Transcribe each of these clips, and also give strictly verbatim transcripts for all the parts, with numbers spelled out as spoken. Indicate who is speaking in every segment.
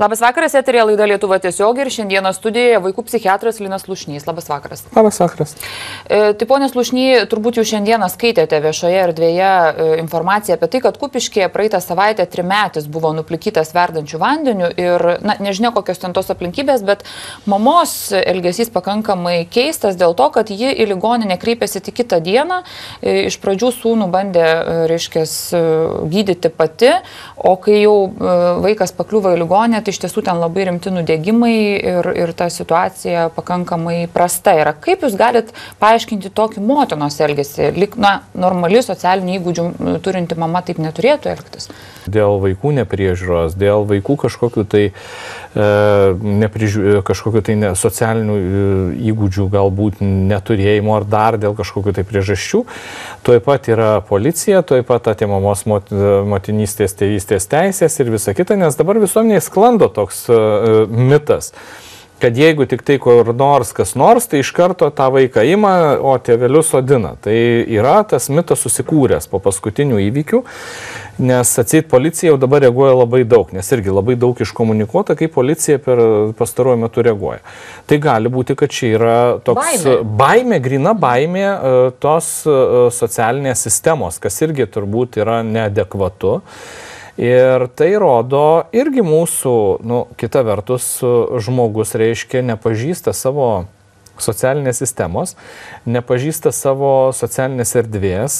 Speaker 1: Labas vakaras, eterija laida Lietuva tiesiog ir šiandieną studijoje vaikų psichiatras Linas Slušnys. Labas vakaras.
Speaker 2: Labas vakaras.
Speaker 1: E, tai ponė Slušny, turbūt jūs šiandieną skaitėte viešoje erdvėje e, informaciją apie tai, kad Kupiškyje praeitą savaitę trimetis buvo nuplikytas verdančių vandeniu ir, na, nežinia kokios ten tos aplinkybės, bet mamos elgesys pakankamai keistas dėl to, kad ji į ligoninę kreipėsi tik kitą dieną. E, iš pradžių sūnų bandė, e, reiškės, e, gydyti pati, o kai jau e, vaikas pakliuvo į ligoninę, tai iš tiesų ten labai rimti nudegimai ir, ir ta situacija pakankamai prasta yra. Kaip jūs galit paaiškinti tokį motinos elgesį? Lik, na, normali socialinių įgūdžių turinti mama taip neturėtų elgtis.
Speaker 2: Dėl vaikų nepriežiūros, dėl vaikų kažkokių tai, e, neprižiū, kažkokių tai ne, socialinių įgūdžių galbūt neturėjimo ar dar dėl kažkokių tai priežasčių. Tuoj pat yra policija, tuoj pat atimamos mot, motinystės, tėvystės teisės ir visa kita, nes dabar visuomenėje sklando toks uh, mitas, kad jeigu tik tai kur nors kas nors, tai iš karto tą vaiką ima, o tėvelius sodina. Tai yra tas mitas susikūręs po paskutinių įvykių, nes atseit policija jau dabar reaguoja labai daug, nes irgi labai daug iškomunikuota, kaip policija per pastaruoju metu reaguoja. Tai gali būti, kad čia yra toks baimė, baimė grina baimė tos socialinės sistemos, kas irgi turbūt yra neadekvatu. Ir tai rodo irgi mūsų, nu, kita vertus, žmogus, reiškia, nepažįsta savo socialinės sistemos, nepažįsta savo socialinės erdvės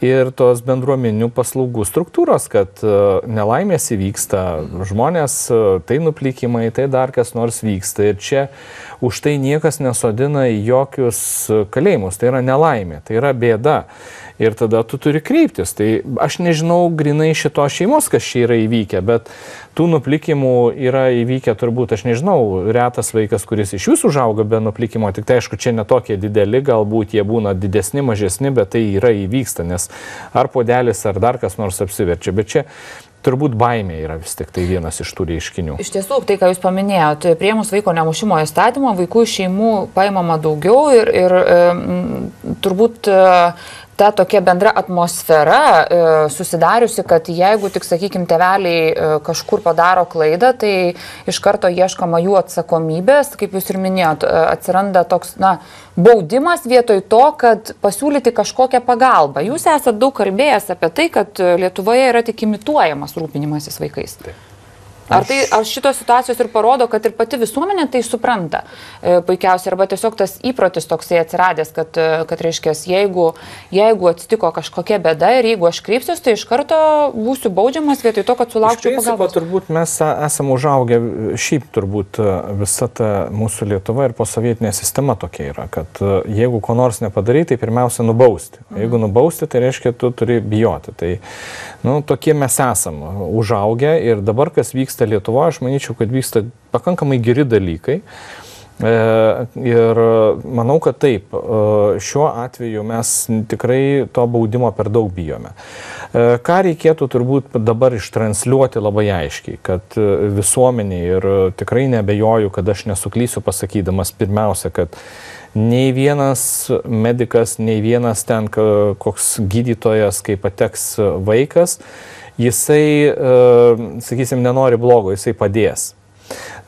Speaker 2: ir tos bendruomeninių paslaugų struktūros, kad nelaimės įvyksta, žmonės, tai nuplikimai, tai dar kas nors vyksta. Ir čia už tai niekas nesodina į jokius kalėjimus. Tai yra nelaimė, tai yra bėda. Ir tada tu turi kreiptis. Tai aš nežinau grinai šitos šeimos, kas čia yra įvykę, bet tų nuplikimų yra įvykę turbūt, aš nežinau, retas vaikas, kuris iš jūsų užauga be nuplikimo, tik tai aišku, čia netokie dideli, galbūt jie būna didesni, mažesni, bet tai yra įvyksta, nes ar podelis, ar dar kas nors apsiverčia, bet čia turbūt baimė yra vis tik tai vienas iš tų reiškinių.
Speaker 1: Iš tiesų, tai ką jūs paminėjote, priėmus vaiko nemušimo įstatymą, vaikų iš šeimų paimama daugiau ir, ir e, turbūt e, ta tokia bendra atmosfera e, susidariusi, kad jeigu tik, sakykime, tėveliai e, kažkur padaro klaidą, tai iš karto ieškoma jų atsakomybės, kaip jūs ir minėjot, e, atsiranda toks, na, baudimas vietoj to, kad pasiūlyti kažkokią pagalbą. Jūs esate daug kalbėjęs apie tai, kad Lietuvoje yra tik imituojamas rūpinimasis vaikais. Taip. Ar, tai, ar šitos situacijos ir parodo, kad ir pati visuomenė tai supranta e, puikiausiai, arba tiesiog tas įprotis toksai atsiradęs, kad, kad reiškia, jeigu, jeigu atsitiko kažkokia bėda ir jeigu aš kreipsiuosi, tai iš karto būsiu baudžiamas vietoj to, kad sulaukčiau pagalbos.
Speaker 2: Turbūt mes esame užaugę, šiaip turbūt visa ta mūsų Lietuva ir posovietinė sistema tokia yra, kad jeigu ko nors nepadarai, tai pirmiausia nubausti. Mhm. Jeigu nubausti, tai reiškia, tu turi bijoti. Tai, nu, tokie mes esame užaugę ir dabar, kas vyksta Lietuvoje, aš manyčiau, kad vyksta pakankamai geri dalykai. E, ir manau, kad taip, šiuo atveju mes tikrai to baudimo per daug bijome. E, ką reikėtų turbūt dabar ištransliuoti labai aiškiai, kad visuomenė, ir tikrai nebejoju, kad aš nesuklysiu pasakydamas pirmiausia, kad nei vienas medikas, nei vienas ten koks gydytojas, kai pateks vaikas, jisai, sakysim, nenori blogo, jisai padės.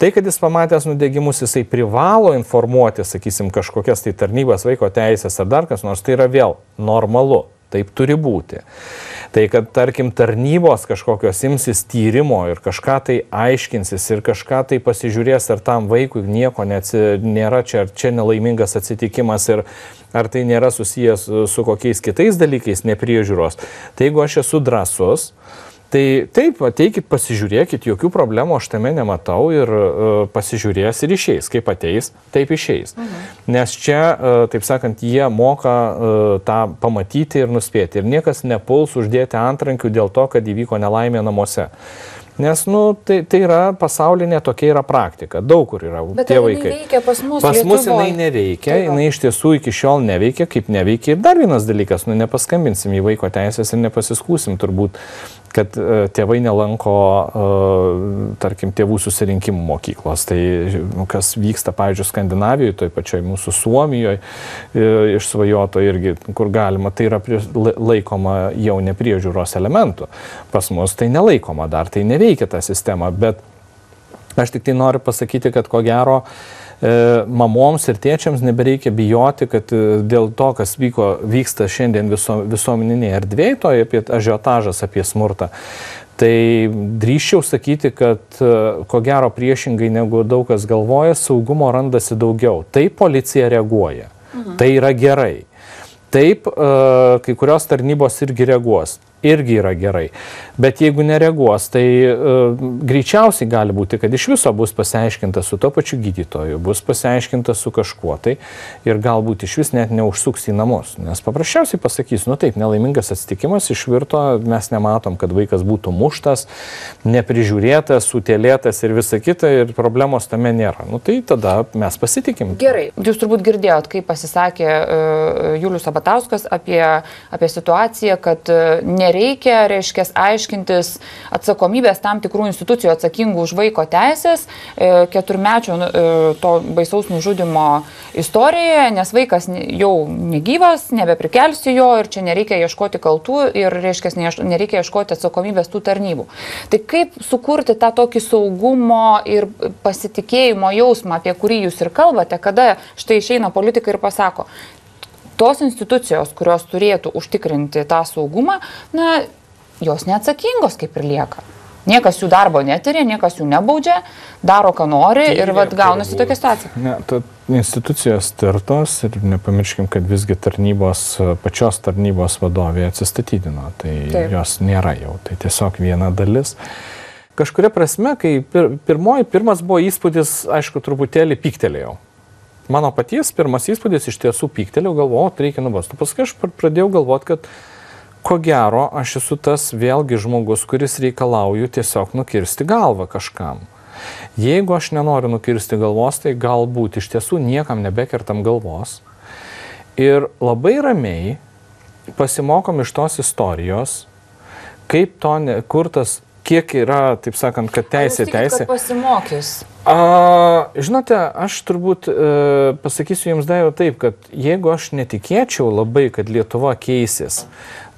Speaker 2: Tai, kad jis pamatęs nudegimus, jisai privalo informuoti, sakysim, kažkokias tai tarnybas, vaiko teisės ar dar kas nors, tai yra vėl normalu, taip turi būti. Tai, kad, tarkim, tarnybos kažkokios imsis tyrimo ir kažką tai aiškinsis ir kažką tai pasižiūrės, ar tam vaikui nieko neatsi, nėra čia, ar čia nelaimingas atsitikimas ir ar tai nėra susijęs su kokiais kitais dalykais nepriežiūros. Tai jeigu aš esu drąsus, tai taip, ateikit, pasižiūrėkit, jokių problemų aš tame nematau ir uh, pasižiūrės ir išeis. Kaip ateis, taip išeis. Mhm. Nes čia, uh, taip sakant, jie moka uh, tą pamatyti ir nuspėti. Ir niekas nepuls uždėti antrankių dėl to, kad įvyko nelaimė namuose. Nes, nu, tai, tai yra pasaulinė, tokia yra praktika. Daug kur yra
Speaker 1: Bet
Speaker 2: tie vaikai.
Speaker 1: Neveikia pas mus,
Speaker 2: pas mus
Speaker 1: Lietuvoj.
Speaker 2: Jinai neveikia, tai jinai iš tiesų iki šiol neveikia, kaip neveikia. Ir dar vienas dalykas, nu, nepaskambinsim į vaiko teisės ir nepasiskūsim turbūt, kad uh, tėvai nelanko, uh, tarkim, tėvų susirinkimų mokyklos. Tai kas vyksta, pavyzdžiui, Skandinavijoje, toj pačioj mūsų Suomijoje, uh, išsvajoto irgi, kur galima, tai yra prie, laikoma jau nepriežiūros elementų. Pas mus tai nelaikoma dar, tai neveikia ta sistema, bet Aš tik tai noriu pasakyti, kad ko gero mamoms ir tėčiams nebereikia bijoti, kad dėl to, kas vyko, vyksta šiandien viso, visuomeninėje erdvėje, to apie ažiotažas, apie smurtą, tai drįsčiau sakyti, kad ko gero priešingai negu daug kas galvoja, saugumo randasi daugiau. Taip policija reaguoja. Mhm. Tai yra gerai. Taip, kai kurios tarnybos irgi reaguos. Irgi yra gerai. Bet jeigu nereaguos, tai uh, greičiausiai gali būti, kad iš viso bus pasiaiškinta su to pačiu gydytoju, bus pasiaiškinta su kažkuo tai ir galbūt iš vis net neužsuks į namus. Nes paprasčiausiai pasakys, nu taip, nelaimingas atsitikimas išvirto, mes nematom, kad vaikas būtų muštas, neprižiūrėtas, sutėlėtas ir visa kita ir problemos tame nėra. Nu tai tada mes pasitikim.
Speaker 1: Gerai. Jūs turbūt girdėjot, kaip pasisakė uh, Julius Sabatauskas apie, apie situaciją, kad uh, ne Nereikia, reiškia, aiškintis atsakomybės tam tikrų institucijų atsakingų už vaiko teisės keturmečio to baisaus nužudimo istorijoje, nes vaikas jau negyvas, nebeprikelsi jo ir čia nereikia ieškoti kaltų ir, reiškia, nereikia ieškoti atsakomybės tų tarnybų. Tai kaip sukurti tą tokį saugumo ir pasitikėjimo jausmą, apie kurį jūs ir kalbate, kada štai išeina politikai ir pasako, tos institucijos, kurios turėtų užtikrinti tą saugumą, na, jos neatsakingos kaip ir lieka. Niekas jų darbo netyrė, niekas jų nebaudžia, daro, ką nori ir vat, gaunasi tokia situacija.
Speaker 2: Ne, ta institucijos tirtos ir nepamirškim, kad visgi tarnybos, pačios tarnybos vadovė atsistatydino, tai Taip. Jos nėra jau, tai tiesiog viena dalis. Kažkuria prasme, kai pir, pirmoji, pirmas buvo įspūdis, aišku, truputėlį pyktelėjau. Mano paties pirmas įspūdis iš tiesų pyktelėjau, galvojau, reikia nubausti. Paskui aš pradėjau galvoti, kad ko gero aš esu tas vėlgi žmogus, kuris reikalauju tiesiog nukirsti galvą kažkam. Jeigu aš nenoriu nukirsti galvos, tai galbūt iš tiesų niekam nebekertam galvos. Ir labai ramiai pasimokom iš tos istorijos, kaip to, ne, kur tas, kiek yra, taip sakant, kad teisė,
Speaker 1: tikit,
Speaker 2: teisė.
Speaker 1: Kad pasimokys?
Speaker 2: A, žinote, aš turbūt e, pasakysiu jums daiva taip, kad jeigu aš netikėčiau labai, kad Lietuva keisis,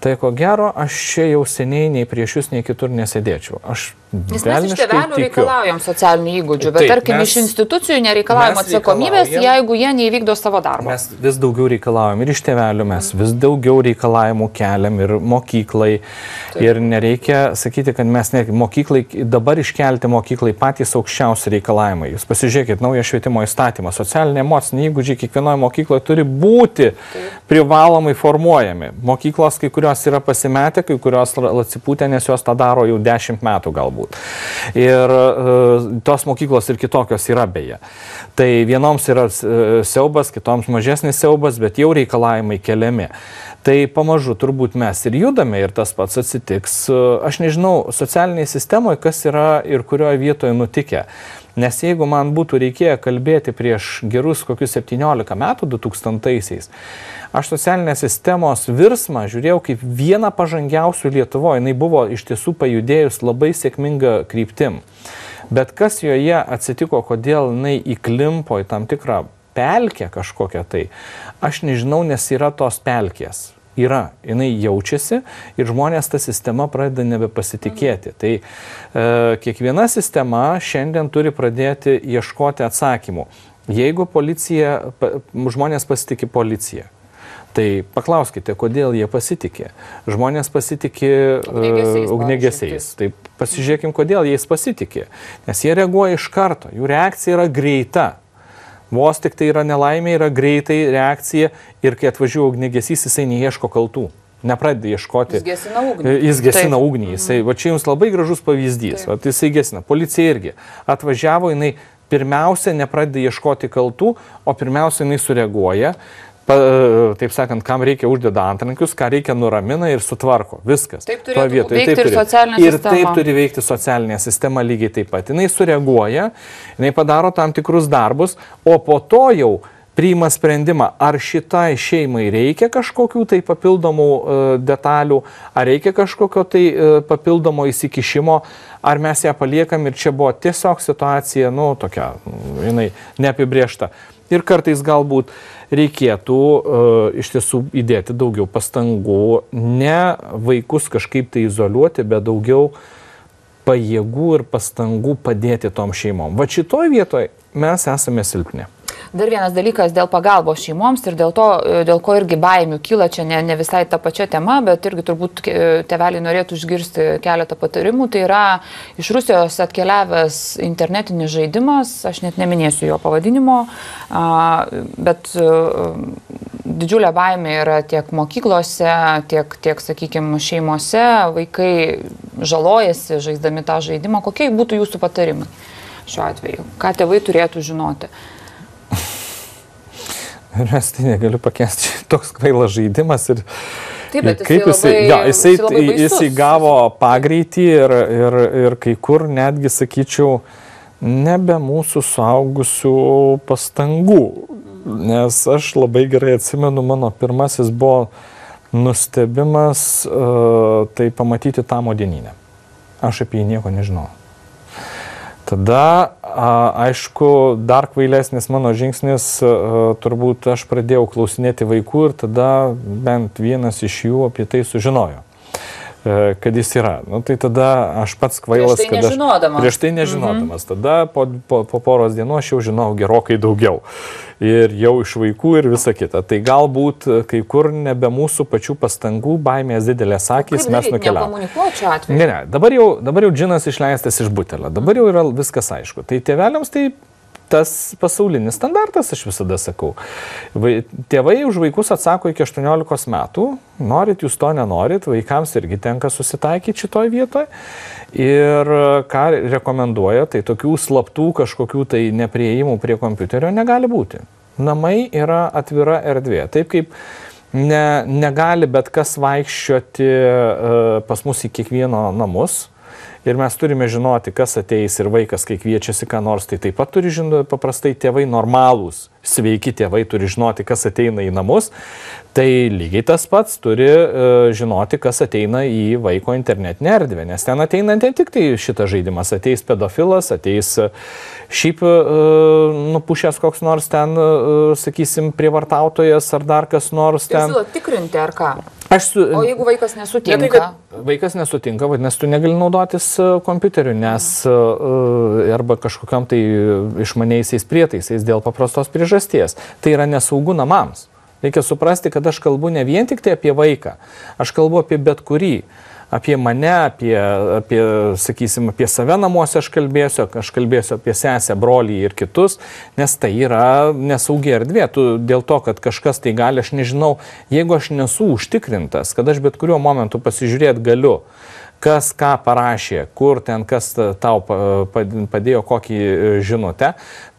Speaker 2: tai ko gero aš čia jau seniai nei prieš jūs, nei kitur nesėdėčiau. Aš
Speaker 1: Nes mes iš tėvelių reikalaujam socialinių įgūdžių, bet
Speaker 2: taip,
Speaker 1: tarkim
Speaker 2: mes,
Speaker 1: iš institucijų nereikalaujam atsakomybės, jeigu jie neįvykdo savo darbo.
Speaker 2: Mes vis daugiau reikalaujam ir iš tėvelių, mes vis daugiau reikalavimų keliam ir mokyklai. Taip. Ir nereikia sakyti, kad mes ne, mokyklai, dabar iškelti mokyklai patys aukščiausi reikalavimai. Jūs pasižiūrėkit, naują švietimo įstatymą, socialiniai emociniai įgūdžiai kiekvienoje mokykloje turi būti taip. Privalomai formuojami. Mokyklos kai kurios yra pasimetę, kai kurios atsipūtę, nes jos tą daro jau dešimt metų galbūt. Ir uh, tos mokyklos ir kitokios yra beje. Tai vienoms yra uh, siaubas, kitoms mažesnis siaubas, bet jau reikalavimai keliami. Tai pamažu turbūt mes ir judame ir tas pats atsitiks. Uh, aš nežinau, socialinėje sistemoje, kas yra ir kurioje vietoje nutikę. Nes jeigu man būtų reikėję kalbėti prieš gerus kokius septyniolika metų, du tūkstantaisiais, aš socialinės sistemos virsmą žiūrėjau kaip vieną pažangiausių Lietuvoje. Jis buvo iš tiesų pajudėjus labai sėkmingą kryptim. Bet kas joje atsitiko, kodėl jinai įklimpo į tam tikrą pelkę kažkokią tai, aš nežinau, nes yra tos pelkės. Yra, jinai jaučiasi ir žmonės tą sistemą pradeda nebepasitikėti. Tai e, kiekviena sistema šiandien turi pradėti ieškoti atsakymų. Jeigu policija, pa, žmonės pasitikė policiją, tai paklauskite, kodėl jie pasitikė. Žmonės pasitikė ugniagesiais. ugniagesiais. Tai pasižiūrėkim, kodėl jais pasitikė. Nes jie reaguoja iš karto, jų reakcija yra greita. Vos tik tai yra nelaimė, yra greitai reakcija ir kai atvažiuoja ugniagesys, jisai neieško kaltų. Nepradeda ieškoti.
Speaker 1: Jis gesina ugnį.
Speaker 2: Jis gesina Taip. ugnį. Jisai, va čia jums labai gražus pavyzdys. Va, jisai gesina. Policija irgi. Atvažiavo, jinai pirmiausia nepradeda ieškoti kaltų, o pirmiausia jinai sureaguoja. Pa, taip sakant, kam reikia uždeda antrankius, ką reikia nuramina ir sutvarko. Viskas.
Speaker 1: Taip turėtų vietoje, veikti taip ir socialinė sistema.
Speaker 2: Ir taip turi veikti socialinė sistema lygiai taip pat. Jinai sureaguoja, jinai padaro tam tikrus darbus, o po to jau priima sprendimą, ar šitai šeimai reikia kažkokių tai papildomų uh, detalių, ar reikia kažkokio tai uh, papildomo įsikišimo, ar mes ją paliekam ir čia buvo tiesiog situacija, nu, tokia, jinai neapibriešta. Ir kartais galbūt reikėtų uh, iš tiesų įdėti daugiau pastangų, ne vaikus kažkaip tai izoliuoti, bet daugiau pajėgų ir pastangų padėti tom šeimom. Va šitoj vietoje mes esame silpni.
Speaker 1: Dar vienas dalykas dėl pagalbos šeimoms ir dėl to, dėl ko irgi baimių kyla, čia ne, ne visai ta pačia tema, bet irgi turbūt tėveliai norėtų išgirsti keletą patarimų. Tai yra iš Rusijos atkeliavęs internetinis žaidimas, aš net neminėsiu jo pavadinimo, bet didžiulė baimė yra tiek mokyklose, tiek, tiek sakykime, šeimose, vaikai žalojasi žaisdami tą žaidimą. Kokie būtų jūsų patarimai šiuo atveju? Ką tėvai turėtų žinoti?
Speaker 2: Ir aš tai negaliu pakęsti, toks kvailas žaidimas ir,
Speaker 1: Taip,
Speaker 2: ir kaip jisai,
Speaker 1: labai,
Speaker 2: ja, jisai,
Speaker 1: jisai,
Speaker 2: jisai gavo pagreitį ir, ir, ir kai kur netgi, sakyčiau, nebe mūsų suaugusių pastangų, nes aš labai gerai atsimenu, mano pirmasis buvo nustebimas, uh, tai pamatyti tą modeninę. Aš apie jį nieko nežinau. Tada, aišku, dar kvailesnis mano žingsnis, turbūt aš pradėjau klausinėti vaikų ir tada bent vienas iš jų apie tai sužinojo, kad jis yra. Nu, tai tada aš pats kvailas,
Speaker 1: prieš tai
Speaker 2: kad
Speaker 1: nežinodamas.
Speaker 2: Aš, prieš tai nežinodamas. Mhm. Tada po, po, po poros dienų aš jau žinau gerokai daugiau. Ir jau iš vaikų ir visa kita. Tai galbūt kai kur nebe mūsų pačių pastangų, baimės didelės akys, mes nukeliavome. Ne, ne, dabar jau, dabar jau džinas išleistas iš butelio. Dabar jau yra viskas aišku. Tai tėveliams tai tas pasaulinis standartas, aš visada sakau. Tėvai už vaikus atsako iki aštuoniolikos metų. Norit jūs to nenorit, vaikams irgi tenka susitaikyti šitoj vietoje. Ir ką rekomenduoja, tai tokių slaptų kažkokių tai neprieimų prie kompiuterio negali būti. Namai yra atvira erdvė. Taip kaip ne, negali bet kas vaikščioti uh, pas mus į kiekvieno namus. Ir mes turime žinoti, kas ateis ir vaikas, kai kviečiasi ką nors, tai taip pat turi žinoti, paprastai tėvai normalūs, sveiki tėvai turi žinoti, kas ateina į namus, tai lygiai tas pats turi uh, žinoti, kas ateina į vaiko internetinę erdvę, nes ten ateina ne tik tai šitas žaidimas, ateis pedofilas, ateis šiaip uh, nupušęs koks nors ten, uh, sakysim, prievartautojas ar dar kas nors ten.
Speaker 1: Tai siūlo tikrinti ar ką?
Speaker 2: Aš su,
Speaker 1: o jeigu vaikas nesutinka?
Speaker 2: Ne, tai, vaikas nesutinka, vadinasi, tu negali naudotis kompiuteriu, nes arba kažkokiam tai išmaniaisiais prietaisais dėl paprastos priežasties. Tai yra nesaugu namams. Reikia suprasti, kad aš kalbu ne vien tik tai apie vaiką, aš kalbu apie bet kurį. Apie mane, apie, apie, sakysim, apie save namuose aš kalbėsiu, aš kalbėsiu apie sesę, brolį ir kitus, nes tai yra nesaugi erdvė. Tu, dėl to, kad kažkas tai gali, aš nežinau, jeigu aš nesu užtikrintas, kad aš bet kuriuo momentu pasižiūrėti galiu, kas ką parašė, kur ten kas tau padėjo kokį žinutę,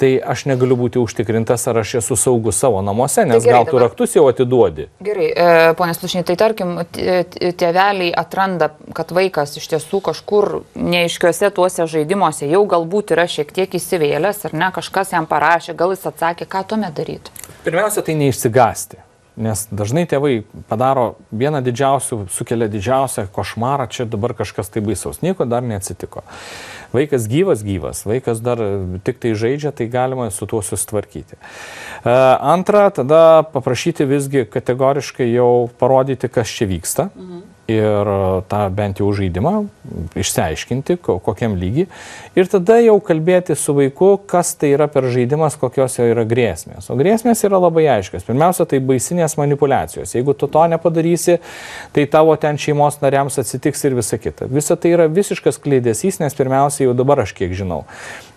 Speaker 2: tai aš negaliu būti užtikrintas, ar aš esu saugus savo namuose, nes tai gerai, gal tu raktus jau atiduodi.
Speaker 1: Gerai, e, ponė Slušny, tai tarkim, tėveliai atranda, kad vaikas iš tiesų kažkur neaiškiuose tuose žaidimuose jau galbūt yra šiek tiek įsivėlęs, ar ne, kažkas jam parašė, gal jis atsakė, ką tuomet daryti?
Speaker 2: Pirmiausia, tai neišsigąsti. Nes dažnai tėvai padaro vieną didžiausių, sukelia didžiausią košmarą, čia dabar kažkas tai baisaus, nieko dar neatsitiko. Vaikas gyvas, gyvas, vaikas dar tik tai žaidžia, tai galima su tuo susitvarkyti. Antra, tada paprašyti visgi kategoriškai jau parodyti, kas čia vyksta. Mhm. Ir tą bent jau žaidimą išsiaiškinti, kokiam lygiai. Ir tada jau kalbėti su vaiku, kas tai yra per žaidimas, kokios jo yra grėsmės. O grėsmės yra labai aiškios. Pirmiausia, tai baisinės manipulacijos. Jeigu tu to nepadarysi, tai tavo ten šeimos nariams atsitiks ir visa kita. Visa tai yra visiškas kleidesys, nes pirmiausia, jau dabar aš kiek žinau,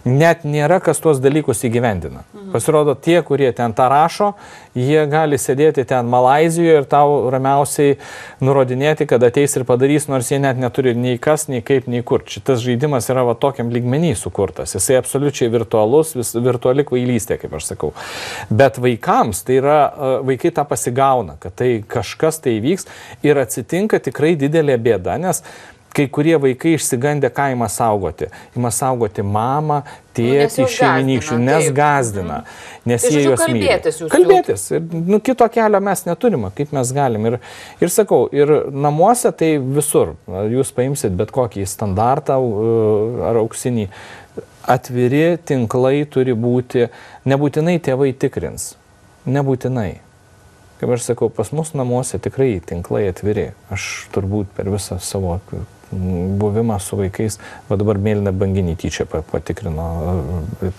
Speaker 2: net nėra, kas tuos dalykus įgyvendina. Mhm. Pasirodo, tie, kurie ten tą rašo, jie gali sėdėti ten Malaizijoje ir tau ramiausiai nurodinėti, kad ateis ir padarys, nors jie net neturi nei kas, nei kaip, nei kur. Šitas žaidimas yra va tokiam lygmenį sukurtas. Jisai absoliučiai virtualus, vis, virtuali kvailystė, kaip aš sakau. Bet vaikams, tai yra, vaikai tą pasigauna, kad tai kažkas tai vyks ir atsitinka tikrai didelė bėda, nes kai kurie vaikai išsigandę, ką ima saugoti. Ima saugoti mamą, tėtį, šeiminykščių, nes gazdina, nes jie juos myli.
Speaker 1: Kalbėtis jūs.
Speaker 2: Kalbėtis. Ir, nu, kito kelio mes neturime, kaip mes galim. Ir, ir sakau, ir namuose tai visur. Jūs paimsit bet kokį standartą ar auksinį. Atviri tinklai turi būti, nebūtinai tėvai tikrins. Nebūtinai. Kaip aš sakau, pas mus namuose tikrai tinklai atviri. Aš turbūt per visą savo buvimą su vaikais, va dabar mėlyną banginį tyčia patikrino,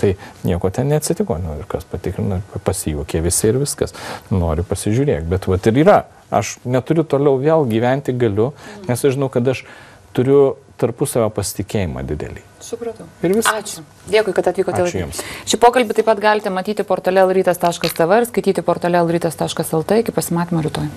Speaker 2: tai nieko ten neatsitiko, nu, ir kas patikrino, pasijuokė visi ir viskas, noriu pasižiūrėk, bet va ir yra, aš neturiu toliau vėl gyventi galiu, nes aš žinau, kad aš turiu tarpusavio pasitikėjimą didelį.
Speaker 1: Supratau.
Speaker 2: Ir viskas.
Speaker 1: Ačiū. Dėkui, kad atvykote.
Speaker 2: Ačiū Jums.
Speaker 1: Šį pokalbį taip pat galite matyti portale lrytas taškas tv ir skaityti portale lrytas taškas lt. Iki pasimatymo rytoj.